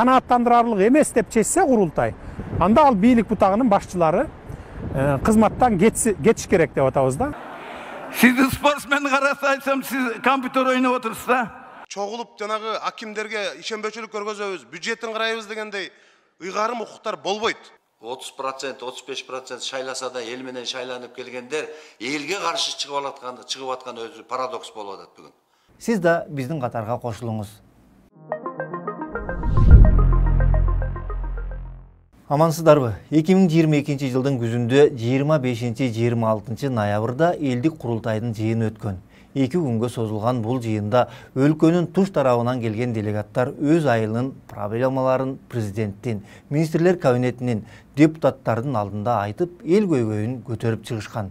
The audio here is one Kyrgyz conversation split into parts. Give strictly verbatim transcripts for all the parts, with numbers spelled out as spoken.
канааттандырарлык эмес деп чечсе курултай, анда ал бийлик бутагынын башчылары кызматтан кетиш керек деп атабыз да. Сизди спортсмен караса айтсам, сиз компьютер ойноп отурсуз да. Чогулуп жанагы акимдерге ишенбөөчүлүк көргөзөбүз, бюджеттин карайбыз дегендей ыйгарым укуктар болбойт. отуз процент, отуз беш процент шайласа да эл менен шайланып келгендер элге каршы чыгып аткан, чыгып аткан өзү парадокс болуп атат бүгүн. Сиз да биздин катарга кошулуңуз. Амансыздарбы? эки миң жыйырма экинчи жылдын күзүндө жыйырма бешинчи жыйырма алтынчы ноябрда элдик курултайдын жыйыны өткөн. эки күнгө созулган бул жыйында өлкөнүн туш тарабынан келген делегаттар өз айылынын проблемаларын президенттин, министрлер кабинетинин, депутаттардын алдында айтып, эл көйгөйүн көтөрүп чыгышкан.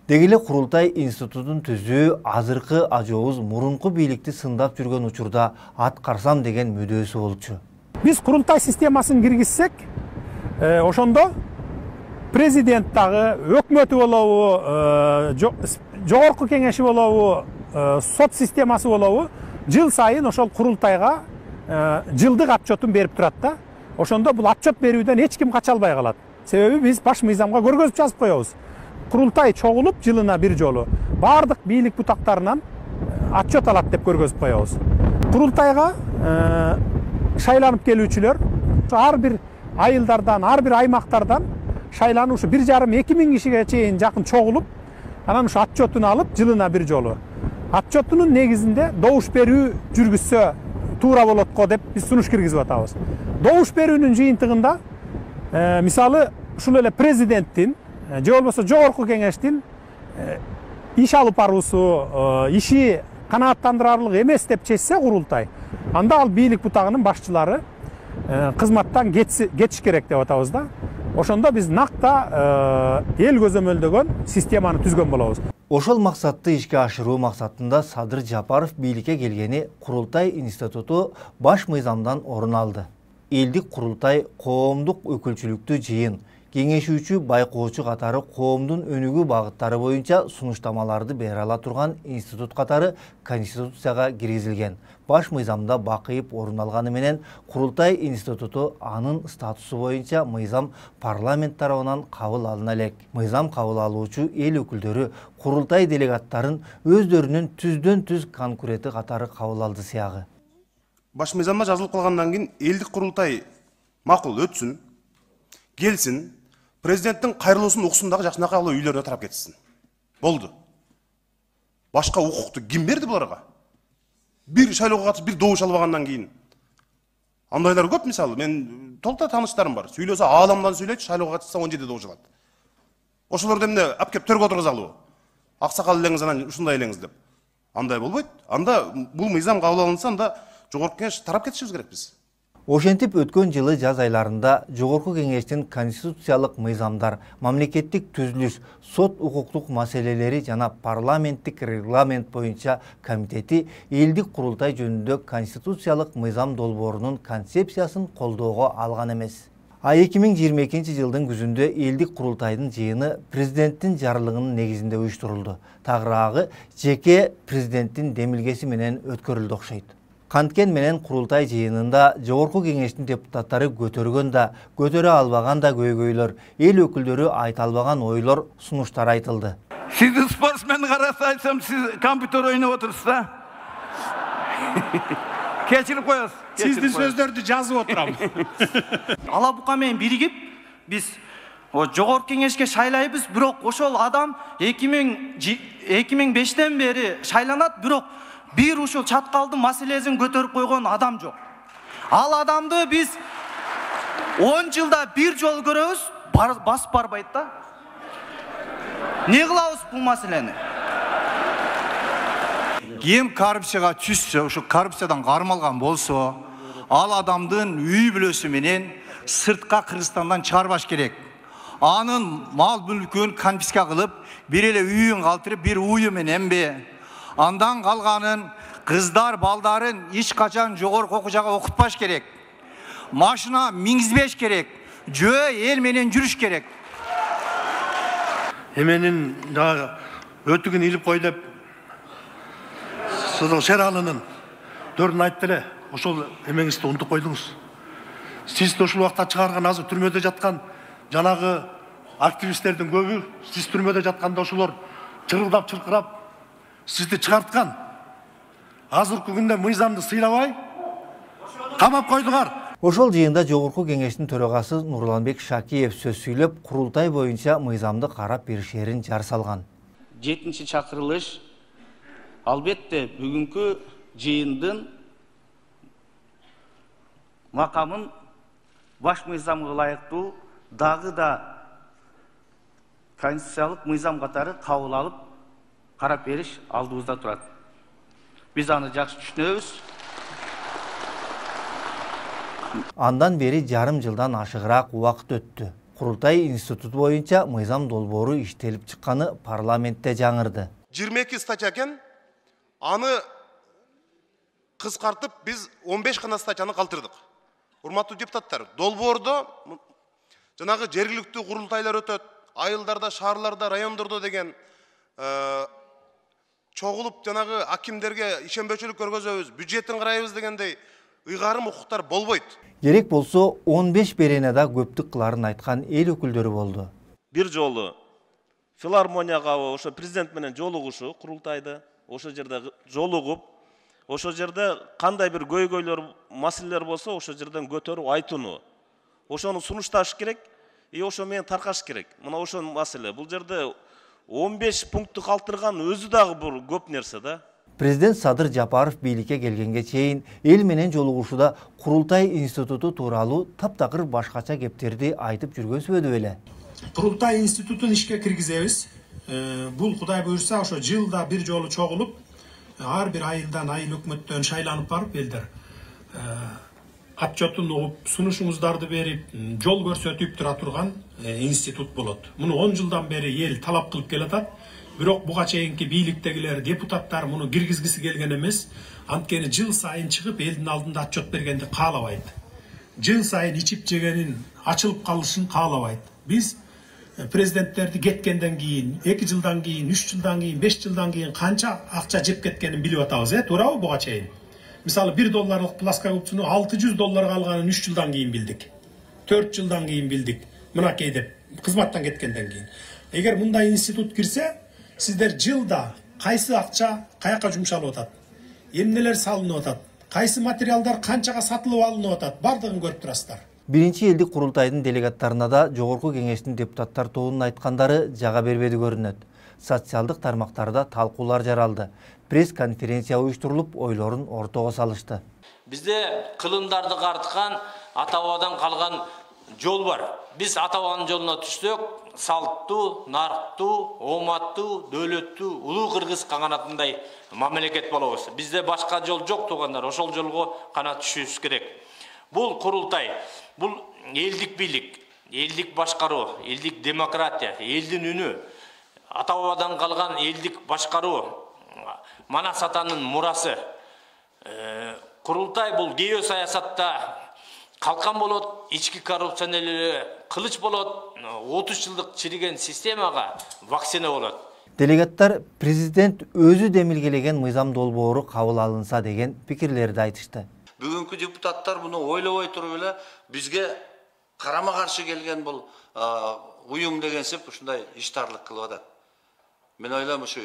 Деги эле курултай институтун түзүү азыркы ажообуз мурунку бийликти сындап жүргөн учурда аткарсам деген мүдөөсү болчу. Биз курултай системасын киргизсек, ошондо президент дагы, өкмөтү болобу, жогорку кеңеши болобу, сот системасы болобу, жыл сайын ошол курултайга жылдык отчетун берип турат да. Ошондо бул отчет берүүдөн эч ким кача албай калат. Себеби биз баш мыйзамга көргөзүп жазып коебуз. Курултай чогулуп жылына бир жолу бардык бийлик бутактарынан отчет алат деп көргөзүп коебуз. Курултайга шайланып келүүчүлөр ар бир айылдардан, ар бир аймактардан шайланып ушу бир жарым эки миң кишиге чейин жакын чогулуп, анан ушу отчетун алып жылына бир жолу отчетунун негизинде добуш берүү жүргүзсө туура болот го деп биз сунуш киргизип атабыз. Добуш берүүнүн жыйынтыгында мисалы ушул эле президенттин же болбосо жогорку кеңештин иш алып баруусу, иши канааттандырарлык эмес деп чечсе курултай, анда ал бийлик бутагынын башчылары кызматтан кетиш керек деп атабыз да. Ошондо биз накта эл көзөмөлдөгөн системаны түзгөн болобуз. Ошол максатты ишке ашыруу максатында Садыр Жапаров бийликке келгени Курултай институту баш мыйзамдан орун алды. Элдик курултай коомдук өкүлчүлүктүү жыйын, кеңешүүчү, байкоочу катары коомдун өнүгүү багыттары боюнча сунуштамаларды бере ала турган институт катары Конституцияга киргизилген. Баш мыйзамда бакыйып орун алганы менен Курултай институту анын статусу боюнча мыйзам парламент тарабынан кабыл алына элек. Мыйзам кабыл алуучу эл өкүлдөрү Курултай делегаттарын өздөрүнүн түздөн түз конкуренти катары кабыл алды сыягы. Баш мыйзамда жазылып калгандан кийин элдик курултай макул өтсүн, келсин, президенттин кайрылуусун уксун дагы жакшынакай алып үйлөрүнө тарап кетсин. Болду. Башка укукту ким берди буларга? Бир шайлоого катышып, бир добуш албагандан кийин. Андайлар көп, мисалы, мен толкта тааныштарым бар. Сүйлөсө ааламдан сүйлөйт, шайлоого катышса он жети добуш алат. Ошолорду эмне алып келип төргө отургузалыбы? Аксакал элеңиз анан ушундай элеңиз деп. Андай болбойт. Анда бул мыйзам кабыл алынса, анда жогорку кеңеш тарап кетишибиз керек биз. Ошентип өткөн жылы жаз айларында жогорку кеңештин конституциялык мыйзамдар, мамлекеттик түзүлүш, сот укуктук маселелери жана парламенттик регламент боюнча комитети элдик курултай жөнүндө конституциялык мыйзам долбоорунун концепциясын колдоого алган эмес. А эки миң жыйырма экинчи жылдын күзүндө элдик курултайдын жыйыны президенттин жарлыгынын негизинде уюштурулду. Тагыраагы жеке президенттин демилгеси менен өткөрүлдү окшойт. Канткен менен курултай жыйынында жогорку кеңештин депутаттары көтөргөн да, көтөрө албаган да көйгөйлөр, эл өкүлдөрү айта албаган ойлор, сунуштар айтылды. Сизди спортсмен караса айтсам, сиз компьютер ойноп отурсуз да. Кечирип коесуз. Сиздин сөздөрдү жазып отурам. Ала бука менен биригип, биз жогорку кеңешке шайлайбыз, бирок ошол адам эки миң бештен бери шайланат, бирок бир ушул чаткалдын маселесин көтөрүп койгон адам жок. Ал адамды биз он жылда бир жол көрөбүз, басып барбайт да. Не кылабыз бул маселени? Ким коррупцияга түшсө, ушу коррупциядан кармалган болсо, ал адамдын үй бүлөсү менен сыртка Кыргызстандан чыгарбаш керек. Анын мал мүлкүн конфиска кылып, бир эле үйүн калтырып, бир уyu менен бе, андан калганын кыздар балдарын эч качан жогорку окуу жайга окутпаш керек. Машина мингизбеш керек. Жөө эл менен жүрүш керек. Эменин дагы өтүгүн илип кой деп сиздин Шералынын дөрүн айтты эле. Ошол эмеңизди унутуп койдуңуз. сиз ушул убакта чыгарган азыр түрмөдө жаткан жанагы активисттердин көбү сиз түрмөдө жатканда ошолор чырылдап чыркырап сизди чыгарткан. Азыркы күндө мыйзамды сыйлабай камап койдуңар. Ошол жыйында Жогорку кеңештин төрагасы Нурланбек Шакиев сөз сүйлөп, курултай боюнча мыйзамды карап беришерин жар салган. жетинчи чакырылыш албетте бүгүнкү жыйындын макамын баш мыйзамга ылайыктуу дагы да конституциялык мыйзам катары кабыл алып карап бериш алдыбызда турат. Биз аны жакшы түшүнөбүз. Андан бери жарым жылдан ашыгыраак убакыт өттү. Курултай институту боюнча мыйзам долбоору иштелип чыкканы парламентте жаңырды. жыйырма эки статья экен, аны кыскартып биз он беш гана статьяны калтырдык. Урматтуу депутаттар, долбоордо жанагы жергиликтүү курултайлар өтөт, айылдарда, шаарларда, райондордо деген чогулуп жанагы акимдерге ишенбөөчүлүк көргөзөбүз, бюджеттин карайбыз дегендей ыйгарым укуктар болбойт. Керек болсо он беш беренада көптүк кыларын айткан эл өкүлдөрү болду. Бир жолу филармонияга ошо президент менен жолугушу курултайды, ошол жерде жолугуп, ошол жерде кандай бир көйгөйлөр, маселелер болсо ошол жерден көтөрүп айтууну. Ошону сунушташ керек, и ошо менен таркаш керек. Мына ошол маселе. Бул жерде он беш пунктту калтырган өзү дагы бир көп нерсе да. Президент Садыр Жапаров бийликке келгенге чейин эл менен жолугушууда Курултай институту тууралуу таптакыр башкача кептерди айтып жүргөнсүбөдү беле. Курултай институтун ишке киргизебиз. Бул Кудай буйрса ошо жылда бир жолу чогулуп, ар бир айылдан, айыл өкмөттөн шайланып барып элдер отчетун угуп, сунушуңуздарды берип, жол көрсөтүп тура турган институт болот. Муну он жылдан бери эл талап кылып келатат. Бирок буга чейинки бийликтегилер, депутаттар муну киргизгиси келген эмес. Анткени жыл сайын чыгып элдин алдында отчет бергенди каалабайт. Жыл сайын ичип жегенин ачылып калышын каалабайт. Биз президенттерди кеткенден кийин, эки жылдан кийин, үч жылдан кийин, беш жылдан кийин канча акча жеп кеткенин билип атабыз, э, туурабы буга чейин? Мисалы бир долларлык плоскогубцуну алты жүз долларга алганын үч жылдан кийин билдик. төрт жылдан кийин билдик. Мынакей деп кызматтан кеткенден кийин. Эгер мындай институт кирсе, сиздер жылда кайсы акча каяка жумшалып атат, эмнелер салынып атат, кайсы материалдар канчага сатылып алынып атат, бардыгын көрүп турасыздар. Биринчи элдик курултайдын делегаттарына да Жогорку кеңештин депутаттар тобунун айткандары жага бербеди көрүнөт. Социалдык тармактарда талкуулар жаралды. Пресс-конференция уюштурулуп, ойлорун ортого салышты. Бизде кылымдарды карткан ата-бабадан калган жол бар. Биз ата-бабанын жолуна түшсөк, салттуу, нарктуу, ооматтуу, дөөлөттүү, улуу кыргыз каганатындай мамлекет болобуз. Бизде башка жол жок туугандар, ошол жолго кана түшүбүз керек. Бул курултай, бул элдик бийлик, элдик башкаруу, элдик демократия, элдин үнү, ата-бабадан калган элдик башкаруу, Манас атанын мурасы. Курултай бул гео саясатта калкан болот, ички коррупционерлер кылыч болот, отуз жылдык чириген системага вакцина болот. Делегаттар президент өзү демилгелеген мыйзам долбоору кабыл алынса деген пикирлерди айтышты. Бүгүнкү депутаттар муну ойлобой туруп эле бизге карама каршы келген бул уюм дегенсип ушундай иштарлык кылып атат. Мен ойлойм ушу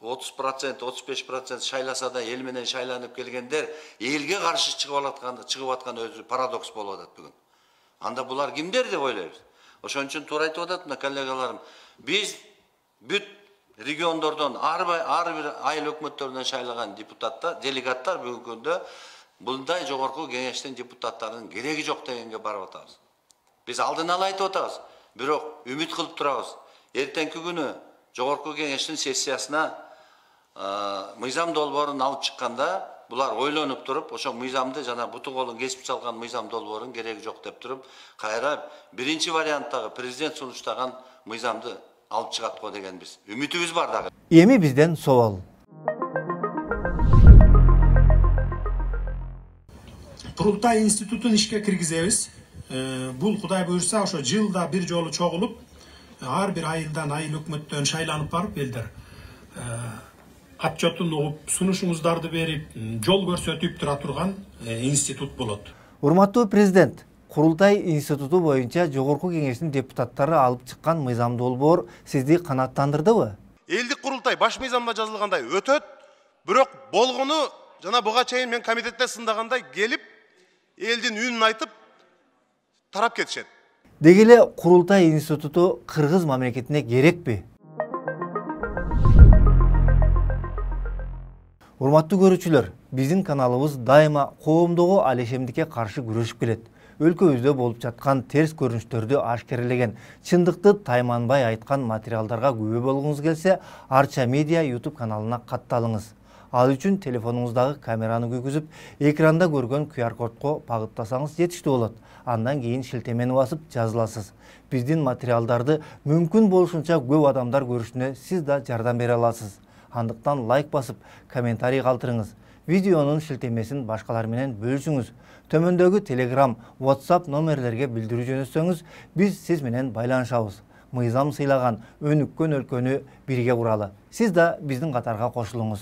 отуз процент, отуз беш процент шайласа да эл менен шайланып келгендер элге каршы чыгып аткан, чыгып аткан өзү парадокс болуп атат бүгүн. Анда булар кимдер деп ойлойбуз. Ошон үчүн туура айтып атат мына коллегаларым. Биз бүт региондордон ар бир айыл өкмөттөрүнөн шайлаган депутаттар, делегаттар бүгүнкү күндө мындай жогорку кеңештин депутаттарынын кереги жок дегенге барып атабыз. Биз алдын ала айтып атабыз, бирок үмүт кылып турабыз. Эртеңки күнү жогорку кеңештин сессиясына мыйзам долбоорун алып чыкканда булар ойлонуп туруп, ошо мыйзамды жана буту колун кесип салган мыйзам долбоорун кереги жок деп туруп, кайра биринчи варианттагы президент сунуштаган мыйзамды алып чыгат го деген биз үмүтүбүз бар дагы. Эми бизден собол. Курултай институтун ишке киргизебиз. Бул Кудай буйрса ошо жылда бир жолу чогулуп, ар бир айылдан, айыл өкмөттөн шайланып барып элдер отчетун угуп, сунушуңуздарды берип, жол көрсөтүп тура турган институт болот. Урматтуу президент, Курултай институту боюнча Жогорку Кеңештин депутаттары алып чыккан мыйзам долбоор сизди канааттандырдыбы? Элдик курултай баш мыйзамда жазылгандай өтөт, бирок болгону жана буга чейин мен комитетте сындагандай келип, элдин үнүн айтып тарап кетишет. Деги эле Курултай институту кыргыз мамлекетине керекпи? Урматтуу көрүүчүлөр, биздин каналыбыз дайыма коомдогу алешемдикке каршы күрөшүп келет. Өлкөбүздө болуп жаткан терс көрүнүштөрдү ашкерелеген, чындыкты тайманбай айткан материалдарга күбө болгуңуз келсе, Арча Медиа YouTube каналына катталыңыз. Ал үчүн телефонуңуздагы камераны күйгүзүп, экранда көргөн ку ар кодко багыттасаңыз жетиштүү болот. Андан кийин шилтемени басып жазыласыз. Биздин материалдарды мүмкүн болушунча көп адамдар көрүшүнө сиз да жардам бере аласыз. Андыктан лайк басып, комментарий калтырыңыз. Видеонун шилтемесин башкалар менен бөлүшүңүз. Төмөндөгү Telegram, WhatsApp номерлерге билдирүү жөнөтсөңүз, биз сиз менен байланышабыз. Мыйзам сыйлаган өнүккөн өлкөнү бирге куралы. Сиз да биздин катарга кошулуңуз.